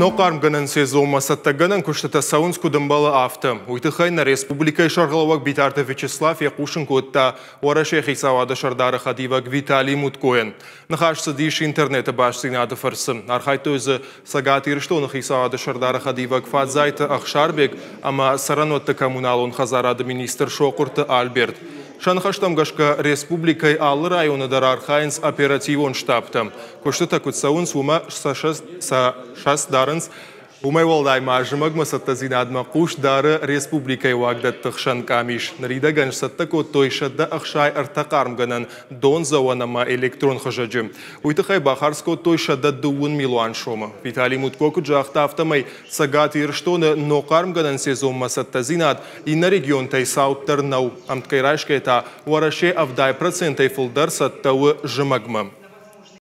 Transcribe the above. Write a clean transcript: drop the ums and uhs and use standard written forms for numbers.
Ног хъармгӕнӕн сезонмӕ цӕттӕгӕнӕн куыстытӕ цӕуынц куыд ӕмбӕлы, афтӕ. Уый тыххӕй нӕ республикӕйы сӕргълӕууӕг Битарты Вячеслав фехъусын кодта Уӕрӕсейы хицауады сӕрдары хӕдивӕг Виталий Муткойӕн. Ныхас цыдис интернеты бастдзинады фӕрцы. Архайдтой дзы Цӕгат Ирыстоны хицауады сӕрдары хӕдивӕг Фадзайты Ӕхсарбег ӕмӕ цӕрӕнуӕтты коммуналон хӕдзарады министр Сохъуырты Альберт. Сӕ ныхӕстӕм гӕсгӕ, республикӕйы алы районы дӕр архайынц оперативон штабтӕ. Куыстытӕ куыд цӕуынц, уымӕ сӕ цӕст дарынц. Уымӕй уӕлдай ма зымӕгмӕ цӕттӕдзинадмӕ хъус дары республикӕйы уагдӕтты хсӕн къамис. Ныридӕгӕн сцӕттӕ кодтой 163 хъармгӕнӕн, дондзӕуӕн ӕмӕ электрон хызӕджы. Уый тыххӕй бахардз кодтой 130 милуан сомы. Виталий Мутко куыд загъта, афтӕмӕй Цӕгат Ирыстоны ног хъармгӕнӕн сезонмӕ цӕттӕдзинад иннӕ регионтӕй цауддӕр нӕу. Ӕмткӕй райсгӕйӕ та Уӕрӕсе 70%-ӕй фылдӕр цӕттӕ у зымӕгмӕ.